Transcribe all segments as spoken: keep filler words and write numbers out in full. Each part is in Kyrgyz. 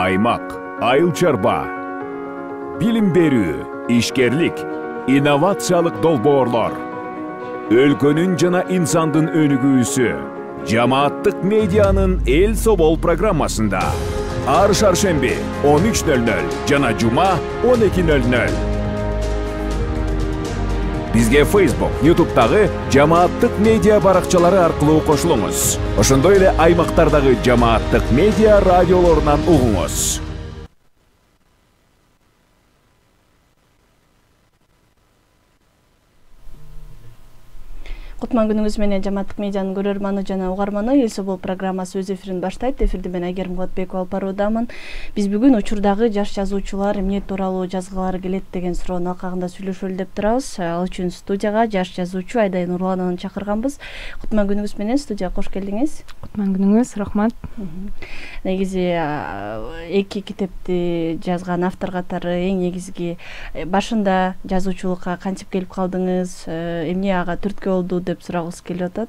аймак, айыл чарба, билим берүү, ишкерлик, инновациялык долбоорлор, өлкөнүн жана инсандын өнүгүүсү жамааттык медианын эл собол программасында ар шаршемби он үч нөл нөл жана жума он эки нөл нөл. Бизге Facebook, YouTube'дагы жамааттык медиа баракчалары аркылуу кошулуңуз. Ошондой эле аймактардагы жамааттык медиа радиолорунан угуңуз. Кутман күнүңүз менен жамааттык медианын көрөрманы жана угарманы эл собол программасы өз эфирин баштайт. Эфирде мен Айгерим Кулатбекова алып баруудамын. Биз бүгүн учурдагы жаш жазуучулар эмне тууралуу жазгылары келет деген суроонун алкагында сүйлөшөлү деп турабыз. Ал үчүн студияга жаш жазуучу Айдай Нурлановну чакырганбыз. Кутман күнүңүз менен студияга кош келдиңиз. Кутман күнүңүз, рахмат. Негизи эки китепти жазган автор катары эң негизги башында жазуучулукка кантип келип калдыңыз, эмне ага түрткү болду деп сурагыбыз келип атат.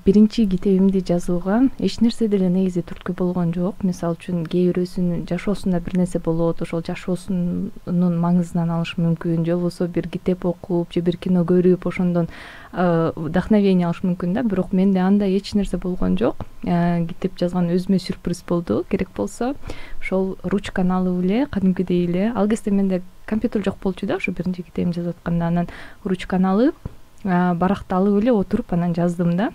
Биринчи китебимди жазууга эч нерсе деле негизи түрткү болгон жок. Мисалы үчүн кээ бирөөсүнүн жашоосунда бир нерсе болот, ошол жашоосунун маңызынан алыш мүмкүн, же болбосо бир китеп окуп, же бир кино көрүп, ошондон вдохновение алыш мүмкүн да. Бирок менде андай эч нерсе болгон жок. Китеп жазган өзүмө сюрприз болду. Керек болсо ошол ручканы алып эле, кадимкидей эле. Ал кезде менде компьютер жок болчу да, ошо биринчи китебимди жазып атканда, анан ручканы алып, баракты алып эле отуруп анан жаздым да.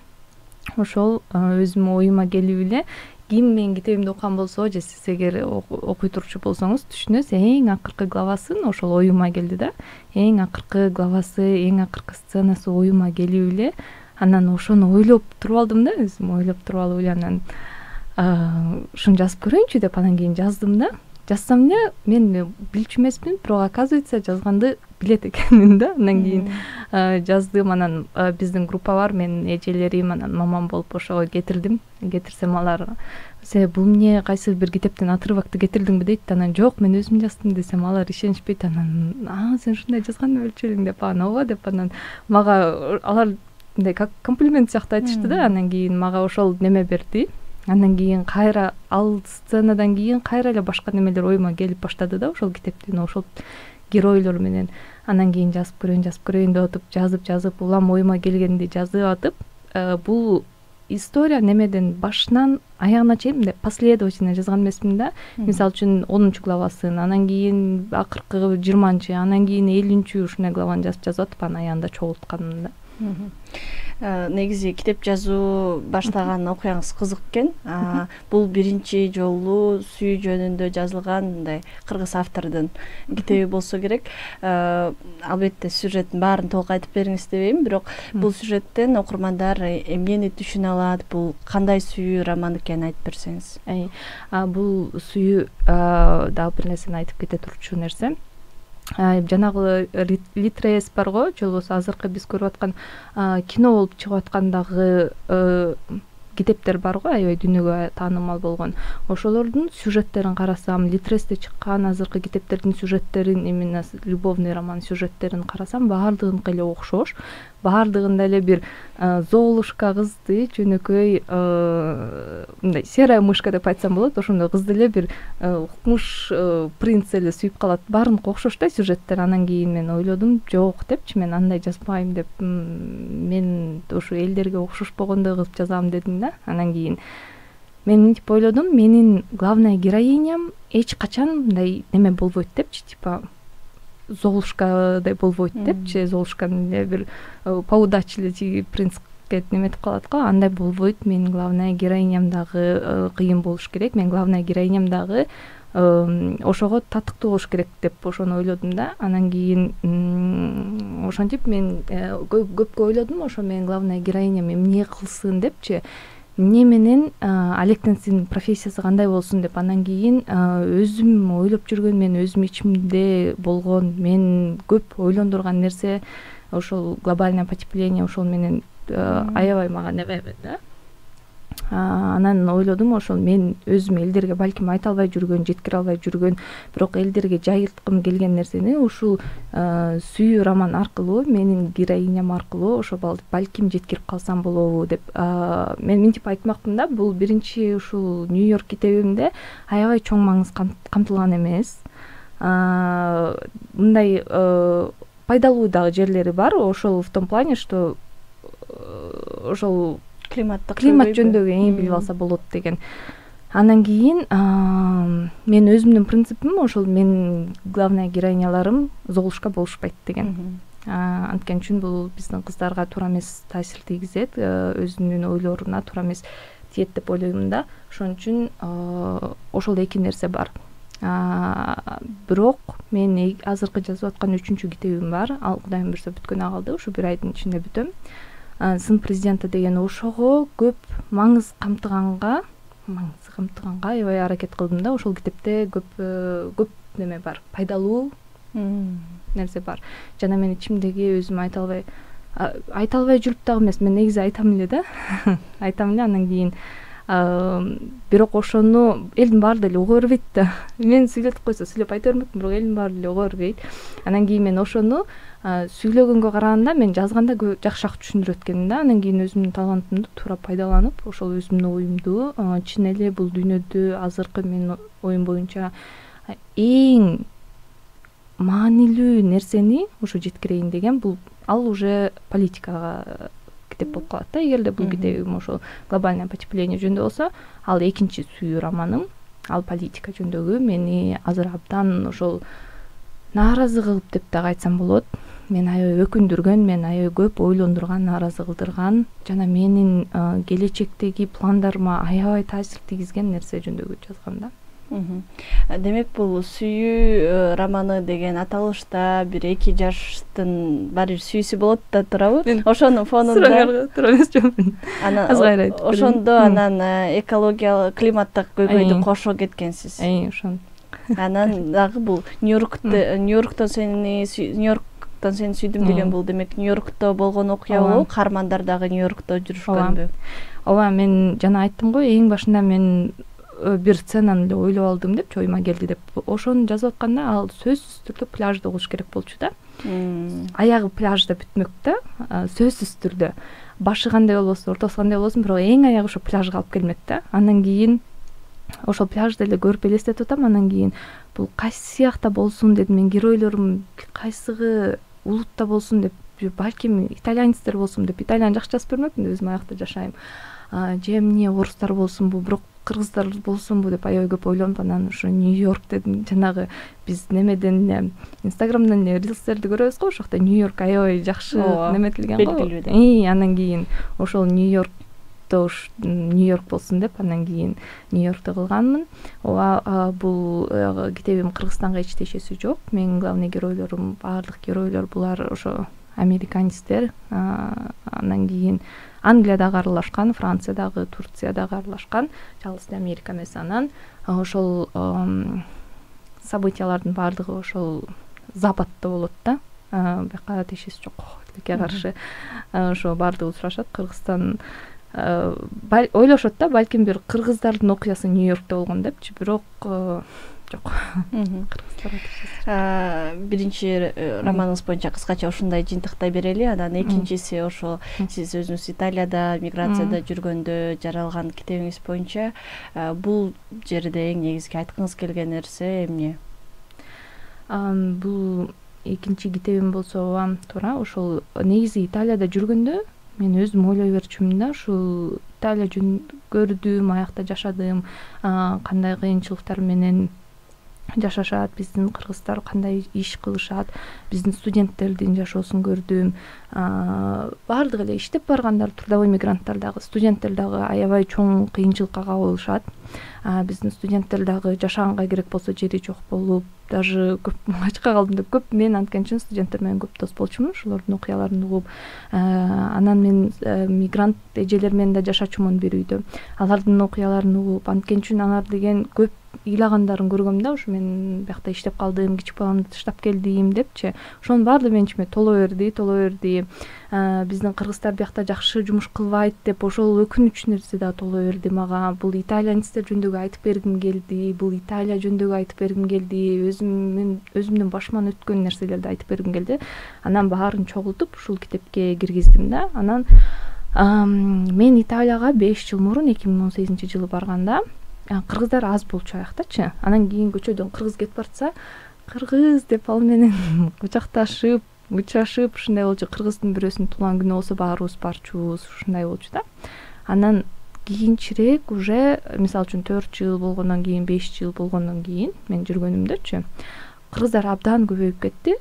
Ошол өзүмө оюма келип эле, ким менин китебимди окуган болсо, же сиз эгер окуй турчу болсоңуз түшүнөсүз, эң акыркы главасын ошол оюма келди да. Эң акыркы главасы, эң акыркы сценасы оюма келип эле, анан ошону ойлоп туруп алдым да, өзүм ойлоп туруп алып эле анан ушуну жазып көрөйүнчү деп анан кийин жаздым да. Жазсам эле мен билчү эмесмин, бирок оказывается жазганды билет экенмин да. Анан кийин жаздым, анан биздин группа бар, менин эжелерим, анан мамам болуп ошого кетирдим. Кетирсем алар "Се бул эмне, кайсы бир китептен отрывокты кетирдиңби?" дейт. Анан "Жок, мен өзүм жаздым" десем, алар ишенишпейт. Анан "А, сен ушундай жазган болчу элең" деп, "А, ооба" деп, анан мага алар мындай как комплимент сыяктуу айтышты да. Анан кийин мага ошол неме берди. Андан кийин кайра ал сценадан кийин кайра эле башка немелер оюма келип баштады да, ошол китептин ошол геройлор менен. Анан кийин жазып көрөйүн, жазып көрөйүн деп атып, жазып жазып, улам оюма келгенди жазып атып, бул история немеден башынан аягына чейин мындай последовательно жазган эмесмин да. Мисалы үчүн онунчу главасын, анан кийин акыркы жыйырманчы, анан кийин элүүнчү ушундай главаны жазып жазып атып, анан аягында чогултканым да. Негизи китеп жазуу баштаган окуяңыз кызык экен. Бул биринчи жолу сүйүү жөнүндө жазылган мындай кыргыз автордун китеби болсо керек. Албетте сюжеттин баарын толук айтып бериңиз дебейм, бирок бул сюжеттен окурмандар эмнени түшүнө алат, бул кандай сүйүү роман экенин айтып берсеңиз. Бул сүйүү дагы бир нерсени айтып кете турчу нерсе. Жанагы Литрес барго, же болбосо азыркы биз көрүп аткан кино болуп чыгып аткандагы китептер барго, аябай дүйнөгө таанымал болгон. Ошолордун сюжеттерин карасам, Литресте чыккан азыркы китептердин сюжеттерин, именно любовный роман сюжеттерин карасам, баардыгыныкы эле окшош. Баардыгында эле бир Золушка кызды, жөнөкөй мындай серая мышка деп айтсам болот, ошондой кызды эле бир кумуш принц эле сүйүп калат. Баардыгы окшош да сюжеттер. Анан кийин мен ойлодум, жок депчи, мен андай жазбайм деп, мен ошо элдерге окшошпогондой кылып жазам дедим да. Анан кийин мен мынтип ойлодум, менин главная героиням эч качан мындай неме болбойт депчи, типа Золушкадай болбойт депчи, Золушканы эле бир поудач эле принцке неметип калат го, андай болбойт. Менин главная героиням дагы кыйын болуш керек, мен главная героиням дагы ошого татыктуу болуш керек деп ошону ойлодум да. Анан кийин ошентип мен көпкө ойлодум, ошо менин главная героиням эмне кылсын депчи, эмне менен алектенсин, профессиясы кандай болсун деп. Анан кийин өзүм ойлоп жүргөн, мен өзүм ичимде болгон, мен көп ойлондурган нерсе ошол глобальное потепление, ошол менен аябай мага неме да. Анан ойлодум, ошол мен өзүм элдерге балким айта албай жүргөн, жеткире албай жүргөн, бирок элдерге жайылткым келген нерсени ушул сүйүү роман аркылуу, менин героиням аркылуу ошо балким жеткирип калсам болобу деп мен мынтип айтмакмын да. Бул биринчи ушул Нью-Йорк китебимде аябай чоң маңыз камтылган эмес. Мындай пайдалуу дагы жерлери бар. Ошол в том плане, что ошол климаттык климат жөнүндөгү эң билип алса болот деген. Андан кийин мен өзүмдүн принципим ошол менин главный героиняларым золушка болушпайт деген. Анткени үчүн бул биздин кыздарга туура эмес таасир тийгизет, өзүнүн ойлоруна туура эмес тиет деп ойлойм да. Ошон үчүн ошол эки нерсе бар. Бирок мен азыркы жазып аткан үчүнчү китебим бар. Ал Кудайым буйрса бүткөнү калды. Ушу бир айдын ичинде бүтөм. Сын президенти деген ошого көп маңыз камтыганга, маңыз камтыганга аябай аракет кылдым да. Ошол китепте көп көп неме бар, пайдалуу нерсе бар. Жана мен ичимдеги өзүм айта албай айта албай жүрүп дагы эмес, мен негизи айтам эле да. Айтам эле, андан кийин бирок ошону элдин баары деле уга бербейт да. Мен сүйлөтүп койсо сүйлөп айта бермекмин, бирок элдин баары деле уга бербейт. Андан кийин мен ошону сүйлөгөнгө караганда мен жазганда жакшыраак түшүндүрөт экенмин да. Андан кийин өзүмдүн талантымды туура пайдаланып, ошол өзүмдүн оюмду чын эле бул дүйнөдө азыркы менин оюм боюнча эң маанилүү нерсени ушу жеткирейин деген, бул ал уже политикага китеп болуп калат да. Эгерде бул китебим ошол глобальное потепление жөнүндө болсо, ал экинчи сүйүү романым, ал политика жөнүндөгү, мени азыр абдан ошол нааразы кылып деп дагы айтсам болот. Мен аябай өкүндүргөн, мен аябай көп ойлондурган, нааразы кылдырган жана менин келечектеги пландарыма аябай таасир тийгизген нерсе жөнүндөгү жазгам да. Демек бул сүйүү романы деген аталышта бир эки жаштын баары бир сүйүүсү болот да, туурабы? Ошонун фонунда туура эмес жокмун. Анан ошондо анан экологиялык, климаттык көйгөйдү кошо кеткенсиз. Эй, ошон. Анан дагы бул Нью-Йоркто Нью-Йорктон сени Нью-Йорктон сени сүйдүм деген бул демек Нью-Йоркто болгон окуя болуп, каармандар дагы Нью-Йоркто жүрүшкөнбү? Ооба, мен жана айттым го, эң башында мен бир сценаны эле ойлоп алдым деп, оюма келди деп. Ошону жазып атканда ал сөзсүз түрдө пляжда болуш керек болчу да. Аягы пляжда бүтмөк да, сөзсүз түрдө. Башы кандай болбосун, ортосу кандай болбосун, бирок эң аягы ошо пляжга алып келмек да. Андан кийин ошол пляжды эле көрүп элестетип атам. Андан кийин бул кайсы сыякта болсун дедим, мен геройлорум кайсыгы улутта болсун деп, балким итальянецтер болсун деп, итальян жакшы жазып бермекмин, өзүм аякта жашайм. Же эмне орустар болсунбу, бирок кыргыздар болсунбу деп аябай көп ойлонуп, анан ошо Нью-Йорк дедим. Жанагы биз немеден Инстаграмдан эле рилстерди көрөбүз го, ошокто Нью-Йорк аябай жакшы неметилген го. И андан кийин ошол Нью-Йоркто Нью-Йорк болсун деп, андан кийин Нью-Йоркто кылганмын. Ооба, бул китебим Кыргызстанга эч тиешеси жок. Менин главный геройлорум, баардык геройлор булар ошо американецтер. Андан кийин Англиядагы аралашкан, Франциядагы, Турциядагы аралашкан, жалгыз Америка эмес. Анан ошол событиялардын баардыгы ошол Западта болот да. Бияка тиешеси жок, тилекке каршы. Ошо баардыгы сурашат, Кыргызстан ойлошот да, балким бир кыргыздардын окуясы Нью-Йоркто болгон депчи, бирок жок. Биринчи романыңыз боюнча кыскача ушундай жыйынтыктай берели. Анан экинчиси ошо сиз өзүңүз Италияда, миграцияда жүргөндө жаралган китебиңиз боюнча бул жерде эң негизги айткыңыз келген нерсе эмне? Бул экинчи китебим болсо туура ошол негизи Италияда жүргөндө мен өзүм ойлой берчүмүн да, ушул Италия жөн көрдүм, аякта жашадым, кандай кыйынчылыктар менен жашашат, биздин кыргыздар кандай иш кылышат, биздин студенттердин жашоосун көрдүм. Баардыгы эле иштеп баргандар, трудовой мигранттар дагы, студенттер дагы аябай чоң кыйынчылыкка кабылышат. Биздин студенттер дагы жашаганга керек болсо жери жок болуп, даже көп ачка калдым деп көп, мен анткени үчүн студенттер менен көп дос болчумун, ошолордун окуяларын угуп. Анан мен мигрант эжелер менен да жашачумун бир үйдө. Алардын окуяларын угуп, анткени үчүн алар деген көп ыйлагандарын көргөм да, ушу мен биякта иштеп калдым, кичик баламды таштап келдим депчи. Ошонун баардыгы менин ичиме толо берди, толо берди. Биздин кыргыздар биякта жакшы жумуш кылбайт деп ошол өкүнүч нерсе да толо берди мага. Бул итальянецтер жөнүндөгү айтып бергим келди, бул Италия жөнүндөгү айтып бергим келди, өзүм өзүмдүн башыман өткөн нерселерди айтып бергим келди. Анан баарын чогултуп ушул китепке киргиздим да. Анан мен Италияга беш жыл мурун эки миң он сегизинчи жылы барганда кыргыздар аз болчу аяктачы. Анан кийин көчөдөн кыргыз кетип барса, кыргыз деп ал менен кучакташып, учурашып ушундай болчу. Кыргыздын бирөөсүнүн туулган күнү болсо баарыбыз барчубуз, ушундай болчу да. Анан кийинчерээк уже мисалы үчүн төрт жыл болгондон кийин, беш жыл болгондон кийин мен жүргөнүмдөчү кыргыздар абдан көбөйүп кетти.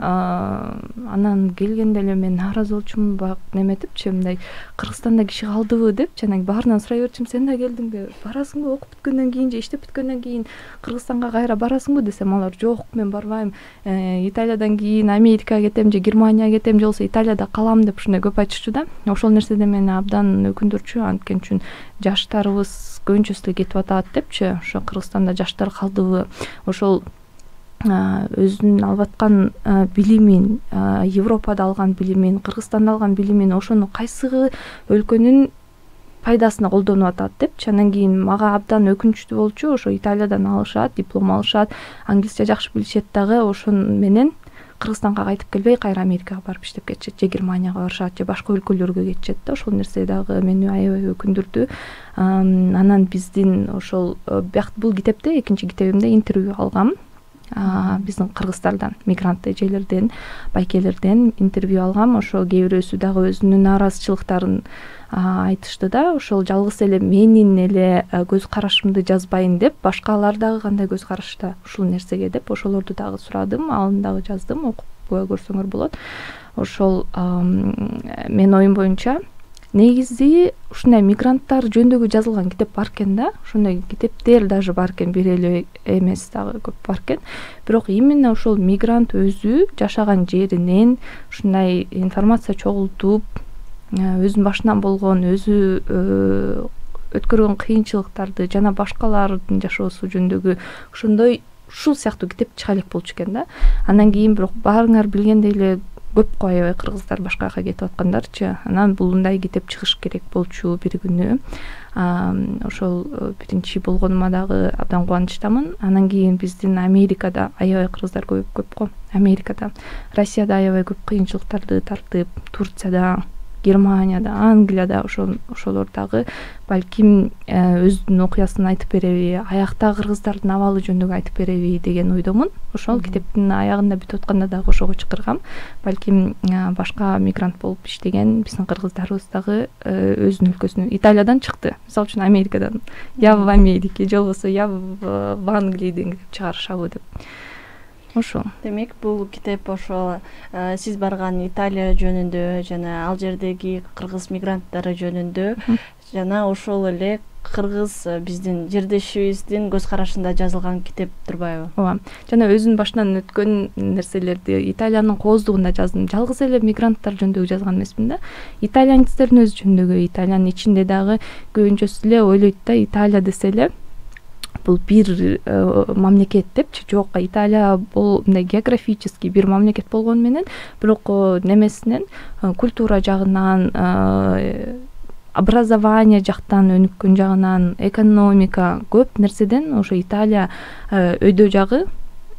Анан келгенде эле мен нааразы болчумун, бак неметипчи, мындай Кыргызстанда киши калдыбы депчи. Анан баарынан сурай берчүм, сен да келдиңби, барасыңбы, окуп бүткөндөн кийин же иштеп бүткөндөн кийин Кыргызстанга кайра барасыңбы десем, алар жок, мен барбайм, Италиядан кийин Америкага кетем же Германияга кетем же болбосо Италияда калам деп ушундай көп айтышчу да. Ошол нерседен мени абдан өкүндүрчү, анткени үчүн жаштарыбыз көбүнчөсү эле кетип атат депчи. Ошо Кыргызстанда жаштар калдыбы, ошол өзүнүн алып аткан билимин, Европада алган билимин, Кыргызстанда алган билимин ошону кайсыгы өлкөнүн пайдасына колдонуп атат депчи. Анан кийин мага абдан өкүнүчтүү болчу. Ошо Италиядан алышат, диплом алышат, англисче жакшы билишет дагы, ошон менен Кыргызстанга кайтып келбей кайра Америкага барып иштеп кетишет же Германияга барышат же башка өлкөлөргө кетишет да. Ошол нерсе дагы мени аябай өкүндүрдү. Анан биздин ошол бул китепте экинчи китебимде интервью алгам. Биздин кыргыздардан, мигрант эжелерден, байкелерден интервью алгам. Ошо кээ бирөөсү дагы өзүнүн нааразычылыктарын айтышты да. Ошол жалгыз эле менин эле көз карашымды жазбайын деп, башкалар дагы кандай көз карашта ушул нерсеге деп ошолорду дагы сурадым, аны дагы жаздым, окуп көрсөңөр болот. Ошол менин оюм боюнча негизи ушундай мигранттар жөнүндөгү жазылган китеп бар экен да. Ошондой китептер даже бар экен, бир эле эмес дагы көп бар экен. Бирок именно ошол мигрант өзү жашаган жеринен ушундай информация чогултуп, өзүнүн башынан болгон, өзү өткөргөн кыйынчылыктарды жана башкалардын жашоосу жөнүндөгү ошондой ушул сыяктуу китеп чыга элек болчу экен да. Андан кийин бирок баарыңар билгендей эле көп го аябай кыргыздар башка жака кетип аткандарчы. Анан булундай китеп чыгыш керек болчу бир күнү. Ошол биринчи болгонума дагы абдан кубанычтамын. Анан кийин биздин Америкада аябай кыргыздар көп көп го. Америкада, Россияда аябай көп кыйынчылыктарды тартып, Турцияда, Германияда, Англияда ошол ошолор дагы балким өзүнүн окуясын айтып береби, аякта кыргыздардын абалы жөнүндөгү айтып береби деген ойдомун. Ошол китептин аягында бүтүп атканда дагы ошого чакыргам. Балким башка мигрант болуп иштеген биздин кыргыздарыбыз дагы өзүнүн өлкөсүнө Италиядан чыкты. Мисалы үчүн Америкадан, я в Америке же болбосо я в Англии деп чыгарышабы деп. Ошо. Демек, бул китеп ошо сиз барган Италия жөнүндө жана ал жердеги кыргыз мигранттары жөнүндө жана ошол эле кыргыз биздин жердешибиздин көз карашында жазылган китеп турбайбы? Ооба. Жана өзүнүн башынан өткөн нерселерди Италиянын кооздугунда жаздым. Жалгыз эле мигранттар жөнүндөгү жазган эмесмин да. Итальянецтердин өзү жөнүндөгү, Италиянын ичинде дагы көбүнчөсү эле ойлойт да, Италия десе эле бул бир мамлекет депчи. Жок, Италия бул мындай географически бир мамлекет болгону менен, бирок немесинен, культура жагынан, образование жактан, өнүккөн жагынан, экономика көп нерседен ошо Италия өйдө жагы,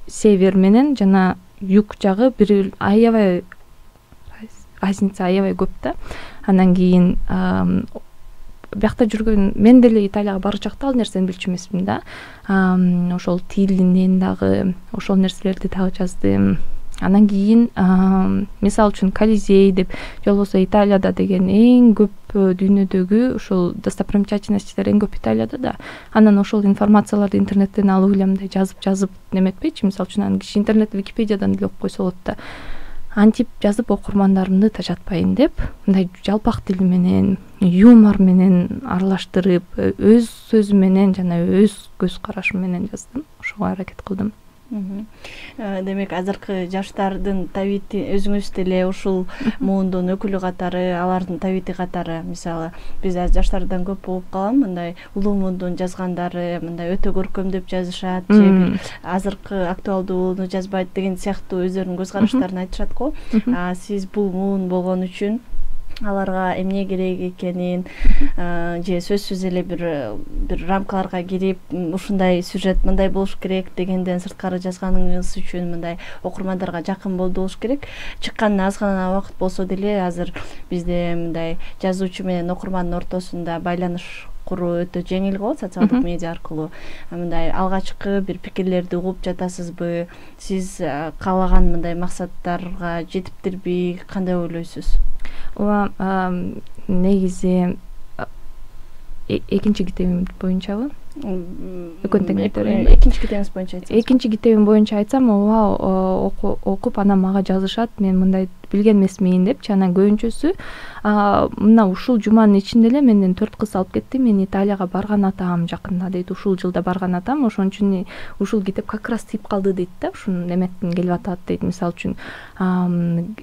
север менен жана юг жагы бир аябай разница аябай көп да. Андан кийин биякта жүргөн мен деле Италияга барчакта ал нерсени билчү эмесмин да. Ошол тилинен дагы ошол нерселерди дагы жаздым. Андан кийин мисалы үчүн Колизей деп же болбосо Италияда деген эң көп дүйнөдөгү ошол достопримечательностьтер эң көп Италияда да. Анан ошол информацияларды интернеттен алып эле мындай жазып жазып неметпейчи. Мисалы үчүн аны киши интернет Википедиядан эле окуп койсо болот да. Антип жазып окурмандарымды тажатпайын деп, мындай жалпак тил менен, юмор менен аралаштырып, өз сөзүм менен жана өз көз карашым менен жаздым. Ошого аракет кылдым. Демек азыркы жаштардын табити өзүңүз деле ушул муундун өкүлү катары, алардын табити катары, мисалы биз жаштардан көп угуп калам, мындай улуу муундун жазгандары мындай өтө көркөмдөп жазышат, же бир азыркы актуалдууну жазбайт деген сыяктуу өздөрүнүн көз караштарын айтышат го. Сиз бул муун болгон үчүн аларга эмне керек экенин же сөзсүз эле бир бир рамкаларга кирип ушундай сюжет мындай болуш керек дегенден сырткары жазганыңыз үчүн мындай окурмандарга жакын болду болуш керек. Чыкканына аз гана убакыт болсо деле азыр бизде мындай жазуучу менен окурмандын ортосунда байланыш куруу өтө жеңил болот социалдык медиа аркылуу. Мындай алгачкы бир пикирлерди угуп жатасызбы? Сиз каалаган мындай максаттарга жетиптирби? Кандай ойлойсуз? Ооба, негизи экинчи китебим боюнчабы? Экинчи китебиңиз боюнча айтсаңыз. Экинчи китебим боюнча айтсам, ооба, окуп анан мага жазышат, мен мындай билген эмесмин депчи. Анан көбүнчөсү мына ушул жуманын ичинде эле менден төрт кыз алып кетти. Мен Италияга барган атам жакында дейт. Ушул жылда барган атам, ошон үчүн ушул китеп как раз тийип калды дейт да. Ушун эметтен келип атат дейт. Мисалы үчүн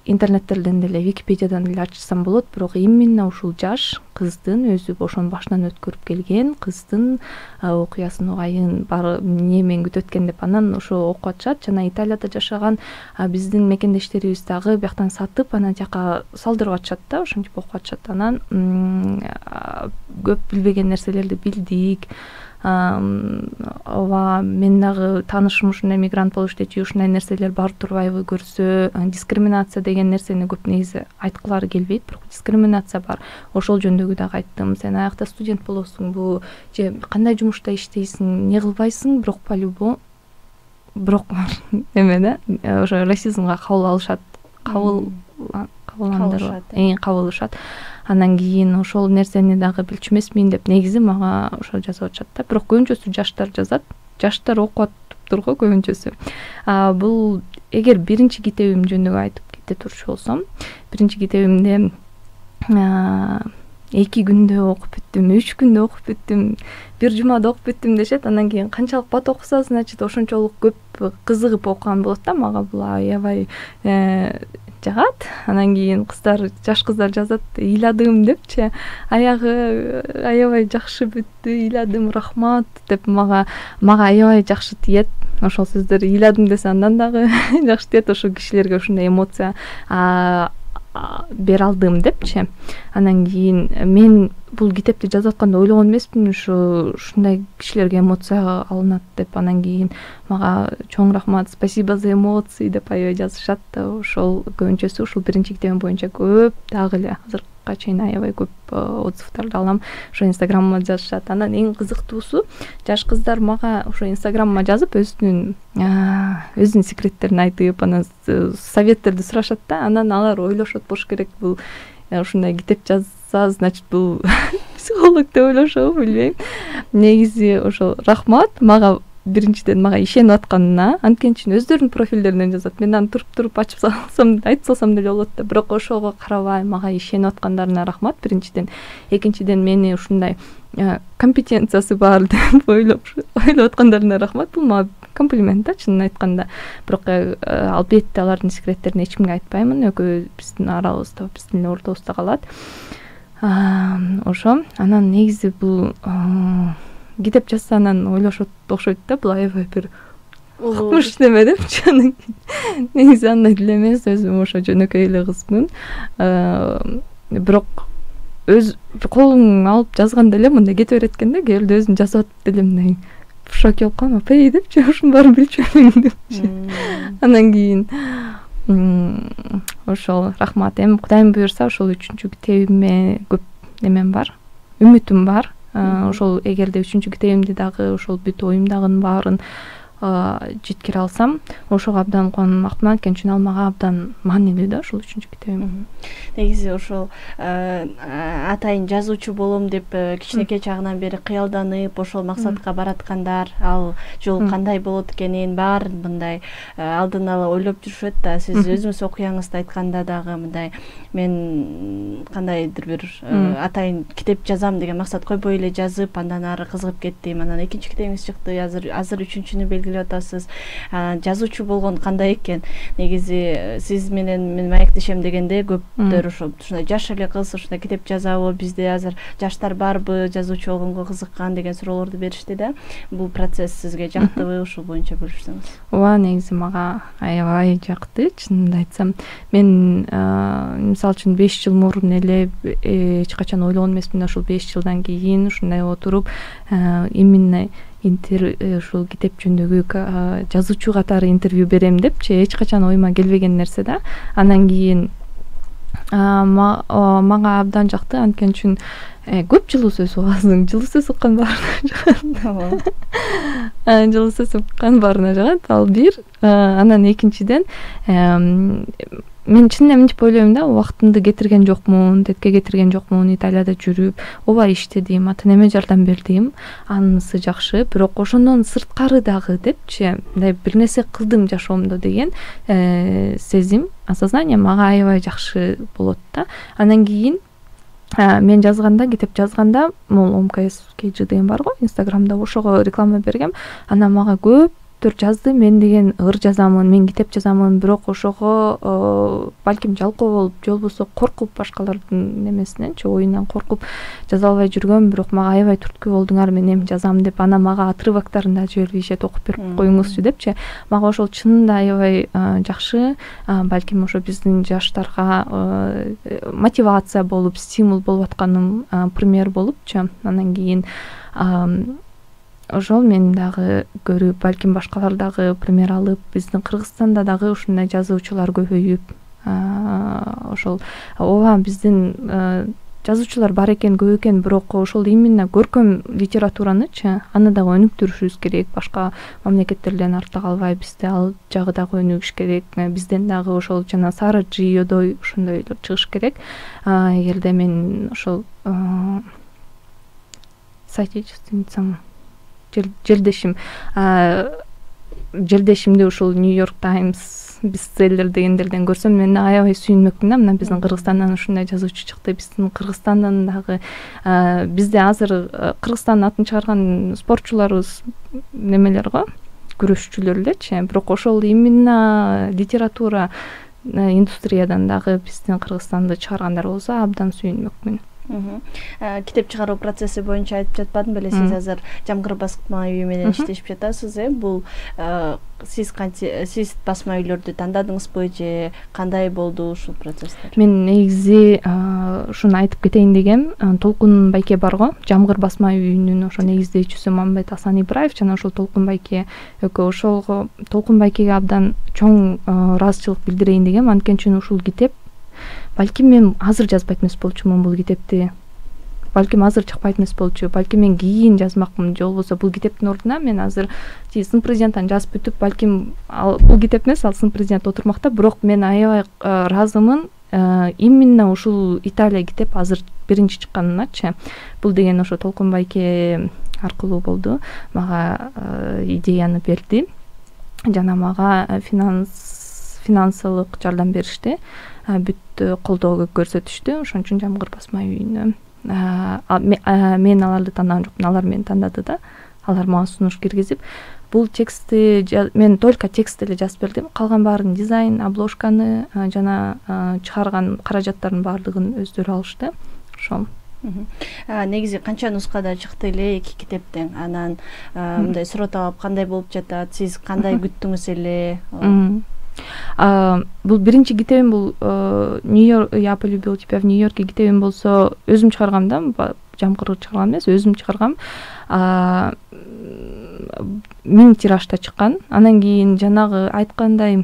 интернеттерден деле, Википедиядан деле ачсам болот, бирок именно ушул жаш кыздын өзү ошонун башынан өткөрүп келген кыздын окуясын угайын бар эмне менен күтөт экен деп анан ошо окуп атышат. Жана Италияда жашаган биздин мекендештерибиз дагы бияктан сатып анан жака салдырып атышат да, ошентип окуп атышат. Анан көп билбеген нерселерди билдик. Ооба, мен дагы таанышым ушундай мигрант болуп иштечү, ушундай нерселер бар турбайбы көрсө, дискриминация деген нерсени көп негизи айткылары келбейт, бирок дискриминация бар. Ошол жөнүндөгү дагы айттым. Сен аякта студент болосуңбу, же кандай жумушта иштейсиң, эмне кылбайсың, бирок по-любому бирок эме да, ошо расизмга кабыл алышат, кабыл кабыландырышат, эң кабылышат. Анан кийин ошол нерсени дагы билчү эмесмин деп негизи мага ошо жазып атышат да. Бирок көбүнчөсү жаштар жазат. Жаштар окуп атыптыр го көбүнчөсү. Бул эгер биринчи китебим жөнүндө айтып кете турчу болсом, биринчи китебимде эки күндө окуп бүттүм, үч күндө окуп бүттүм, бир жумада окуп бүттүм дешет. Анан кийин канчалык бат окуса, значит, ошончолук көп кызыгып окуган болот да. Мага бул аябай жагат. Анан кийин кыздар, жаш кыздар жазат, ыйладым депчи. Аягы аябай жакшы бүттү, ыйладым, рахмат деп мага мага аябай жакшы тиет. Ошол сөздөр ыйладым десе андан дагы жакшы тиет. Ошол кишилерге ушундай эмоция бере алдым депчи. Анан кийин мен бул китепти жазып атканда ойлогон эмесмин, ушу ушундай кишилерге эмоция алынат деп. Анан кийин мага чоң рахмат, спасибо за эмоции деп аябай жазышат. Ошол көбүнчөсү ушул биринчи китебим боюнча көп дагы эле азыркыга чейин аябай көп отзывдарды алам. Ошо инстаграмыма жазышат. Анан эң кызыктуусу, жаш кыздар мага ошо инстаграмыма жазып өзүнүн өзүнүн секреттерин айтып, анан советтерди сурашат да. Анан алар ойлошот болуш керек, бул ушундай китеп жазса, значит, бул психолог деп ойлошобу, билбейм. Негизи ошо рахмат мага биринчиден мага ишенип атканына, анткени өздөрүнүн профилдеринен жазат. Мен аны туруп-туруп ачып салсам, айтып салсам деле болот да, бирок ошого карабай мага ишенип аткандарына рахмат биринчиден. Экинчиден мени ушундай компетенциясы бар деп ойлоп ойлоп аткандарына рахмат. Бул мага комплимент да, чынын айтканда. Бирок албетте алардын секреттерин эч кимге айтпаймын. Экөө биздин арабызда, биздин ортобузда калат. Ошо. Анан негизи бул китеп жазса анан ойлошот окшойт да, бул аябай бир укмуш неме депчи. Анан негизи андай деле эмес, өзүм ошо жөнөкөй эле кызмын. Бирок өз колуң алып жазганда эле мындай кете берет экен да, келди өзүм жазып атып деле мындай шок болуп калам, апай депчи, ушунун баарын билчү элем депчи. Анан кийин ошол рахмат. Эми Кудайым буйрса ошол үчүнчү китебиме көп немем бар, үмүтүм бар. Ошол эгерде үчүнчү китебимди дагы ошол бүт оюмдагынын баарын жеткире алсам, ошого абдан кубанмакмын, анткени ал мага абдан маанилүү да, ошол үчүнчү китебим. Негизи ошол атайын жазуучу болом деп кичинекей чагынан бери кыялданып, ошол максатка бараткандар, ал жол кандай болот экенин баарын мындай алдын ала ойлоп жүрүшөт да. Сиз өзүңүз окуяңызды айтканда дагы мындай мен кандайдыр бир атайын китеп жазам деген максат койбой эле жазып, андан ары кызыгып кеттим. Анан экинчи китебиңиз чыкты, азыр азыр үчүнчүнү белгилеп келип атасыз. Жазуучу болгон кандай экен? Негизи сиз менен мен маектешем дегенде көптөр ошо ушундай жаш эле кыз ушундай китеп жазабы, бизде азыр жаштар барбы, жазуучу болгонго кызыккан деген суроолорду беришти да. Бул процесс сизге жактыбы, ушул боюнча бөлүшсөңүз. Ооба, негизи мага аябай жакты, чынымды айтсам. Мен мисалы үчүн беш жыл мурун эле эч качан ойлогон эмесмин, ушул беш жылдан кийин ушундай отуруп именно ушул китеп жөнүндөгү жазуучу катары интервью берем депчи эч качан оюма келбеген нерсе да. Андан кийин мага абдан жакты, анткени үчүн көп жылуу сөз угасың, жылуу сөз уккан баарына жагат. Жылуу сөз уккан баарына жагат. Ал бир. Анан экинчиден мен чын эле мынтип ойлойм да, убактымды кетирген жокмун, тетке кетирген жокмун, Италияда жүрүп, ооба иштедим, ата-энеме жардам бердим, анысы жакшы, бирок ошондон сырткары дагы депчи, мындай бир нерсе кылдым жашоомдо деген сезим, осознание мага аябай жакшы болот да. Андан кийин мен жазганда, китеп жазганда, могул эм ка эс кей джи деген бар го, Инстаграмда, ошого реклама бергем. Анан мага көп жазды, мен деген ыр жазамын, мен китеп жазамын, бирок ошого балким жалкоо болуп, же болбосо коркуп, башкалардын немесиненчи, оюнан коркуп жаза албай жүргөм, бирок мага аябай түрткү болдуңар, мен эми жазам деп, анан мага отрывоктарын да жиберишет, окуп берип коюңузчу депчи. Мага ошол чынында аябай жакшы, балким ошо биздин жаштарга мотивация болуп, стимул болуп атканым пример болупчу. Андан кийин ошол мен дагы көрүп, балким башкалар дагы пример алып, биздин Кыргызстанда дагы ушундай жазуучулар көбөйүп, ошол ооба биздин жазуучулар бар экен, көп экен, бирок ошол именно көркөм литературанычы, аны дагы өнүктүрүшүбүз керек, башка мамлекеттерден артта калбай, бизде ал жагы дагы өнүгүш керек, бизден дагы ошол жана Сара Джиодой ошондойлор чыгыш керек. Эгерде мен ошол соотечественницам жердешим жердешимди ушул Нью-Йорк Таймс бестселлер дегендерден көрсөм, мен аябай сүйүнмөкмүн да, мына биздин Кыргызстандан ушундай жазуучу чыкты, биздин Кыргызстандан дагы бизде азыр Кыргызстандын атын чыгарган спортчуларыбыз немелер го, күрөшчүлөр элечи, бирок ошол именно литература индустриядан дагы биздин Кыргызстанды чыгаргандар болсо абдан сүйүнмөкмүн. Китеп чыгаруу процесси боюнча айтып жатпадым беле, сиз азыр Жамгыр басма үйү менен иштешип жатасыз, э? Бул сиз сиз басма үйлөрдү тандадыңызбы же кандай болду ушул процесстер? Мен негизи ушуну айтып кетейин дегем, Толкун байке бар го, Жамгыр басма үйүнүн ошо негиздөөчүсү Мамбет Асан Ибраев жана ошол Толкун байке экөө, ошолго Толкун байкеге абдан чоң ыраазычылык билдирейин дегем, анткени үчүн ушул китеп балким мен азыр жазбайт эмес болчумун бул китепти. Балким азыр чыкпайт эмес болчу. Балким мен кийин жазмакмын, же болбосо бул китептин ордуна мен азыр сын президенттен жазып бүтүп, балким бул китеп эмес, ал сын президент отурмакта, бирок мен аябай ыраазымын именно ушул Италия китеп азыр биринчи чыкканыначы. Бул деген ошо Толкун байке аркылуу болду. Мага идеяны берди жана мага финанс финансылык жардам беришти. Бүт колдоо көрсөтүштү. Ошон үчүн Жамгыр басма үйүнө мен аларды тандаган жокмун, алар мени тандады да. Алар мага сунуш киргизип, бул текстти мен только текст эле жазып бердим. Калган баарын дизайн, обложканы жана чыгарган каражаттардын баардыгын өздөрү алышты. Ошол. Негизи канча нускада чыкты эле эки китептен? Анан мындай суроо таап кандай болуп жатат? Сиз кандай күттүңүз эле? Бул биринчи китебим, бул Нью-Йорк, я полюбил тебя в Нью-Йорке китебим болсо, өзүм чыгаргам да, Жамгыр чыгарган эмес, өзүм чыгаргам. Миң тиражда чыккан. Андан кийин жанагы айткандай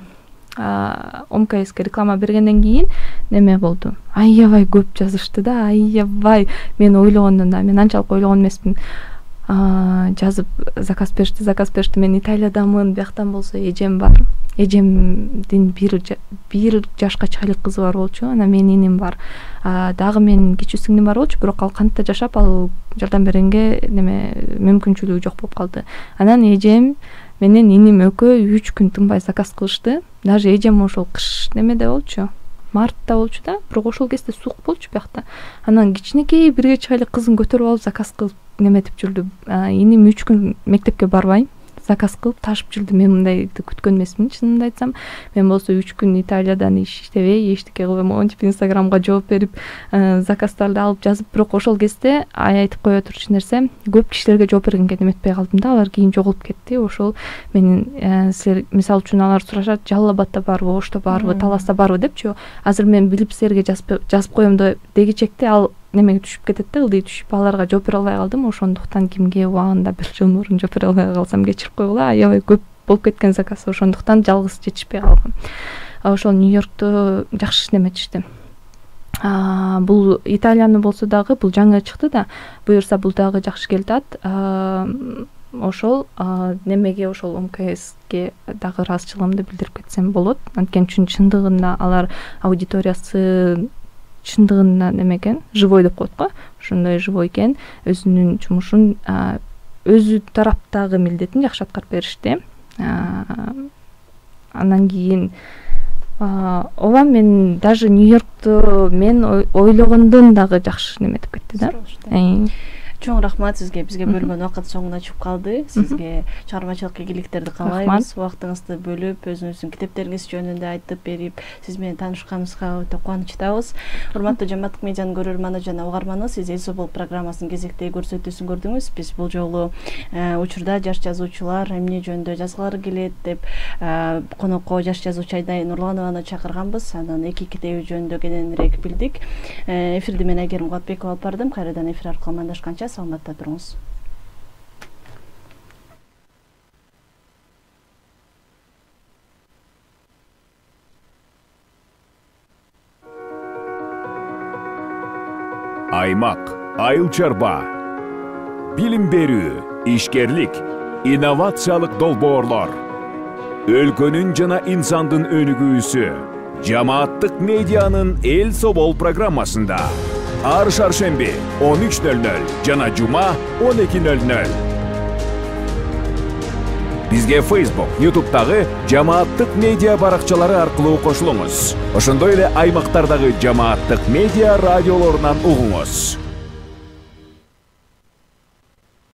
эм ка эске реклама бергенден кийин неме болду. Аябай көп жазышты да, аябай. Мен ойлогондон да, мен анчалык ойлогон эмесмин. Жазып заказ беришти, заказ беришти. Мен Италиядамын, бияктан болсо эжем бар. Эжемдин бир бир жашка чыгайлык кызы бар болчу. Анан менин иним бар. Дагы менин кичүү сиңдим бар болчу, бирок ал кантта жашап, ал жардам бергенге неме мүмкүнчүлүгү жок болуп калды. Анан эжем менен иним экөө үч күн тынбай заказ кылышты. Даже эжем ошол кыш немеде болчу, мартта болчу да, бирок ошол кезде суук болчу биякта. Анан кичинекей бирге чыгайлык кызын көтөрүп алып заказ кылып неметип жүрдү. Иним үч күн мектепке барбай заказ кылып ташып жүрдүм. Мен мындайды күткөн эмесмин, чынымды айтсам. Мен болсо үч күн Италиядан иштебей, эчтеке кылбай монтип Инстаграмга жооп берип, заказдарды алып жазып, бирок ошол кезде айтып кое турчу нерсе, көп кишилерге жооп бергенге эметпей калдым да, алар кийин жоголуп кетти. Ошол менин силер мисалы үчүн алар сурашат, Жалал Абадта барбы, Ошто барбы, Таласта барбы депчи. Азыр мен билип силерге жазып коем дегичекте ал немеге түшүп кетет да, ылдый түшүп, аларга жооп бере албай калдым. Ошондуктан кимге убагында бир жыл мурун жооп бере албай калсам кечирип койгула, аябай көп болуп кеткен заказ, ошондуктан жалгыз жетишпей калгам. Ошол Нью-Йоркто жакшы иштеметишти. Бул Италияны болсо дагы бул жаңы чыкты да, буюрса бул дагы жакшы келатат. Ошол немеге ошол МКСке дагы ыраазычылыгымды билдирип кетсем болот. Анткени чындыгында алар аудиториясы чындыгында неме экен, живой деп коет го. Ошондой живой экен, өзүнүн жумушун өзү тараптагы милдетин жакшы аткарып беришти. Андан кийин ооба мен даже Нью-Йоркто мен ойлогондон дагы жакшы неметип кетти да. Чоң рахмат сизге, бизге бөлгөн убакыт соңуна чыгып калды. Сизге чыгармачылык ийгиликтерди каалайбыз. Убактыңызды бөлүп, өзүңүздүн китептериңиз жөнүндө айтып берип, сиз менен таанышканыбызга өтө кубанычтабыз. Урматтуу Жамааттык медианын көрөрманы жана угарманы, сиз Эл Собол программасынын кезектеги көрсөтүүсүн көрдүңүз. Биз бул жолу учурда жаш жазуучулар эмне жөнүндө жазгылары келет деп конокко жаш жазуучу Айдай Нурланованы чакырганбыз. Анын эки китеби жөнүндө кененирээк билдик. Эфирди мен Айгерим Кубатбекова алып бардым. Кайрадан эфир аркылуу амандашканча саламатта туруңуз. Аймак, айыл чарба, билим берүү, ишкерлик, инновациялык долбоорлор, өлкөнүн жана инсандын өнүгүүсү Жамааттык медианын Эл Собол программасында ар шаршемби он үч нөл нөл жана жума он эки нөл нөл. Бизге Facebook, YouTube'дагы Жамааттык медиа баракчалары аркылуу кошулуңуз. Ошондой эле аймактардагы Жамааттык медиа радиолорунан угуңуз.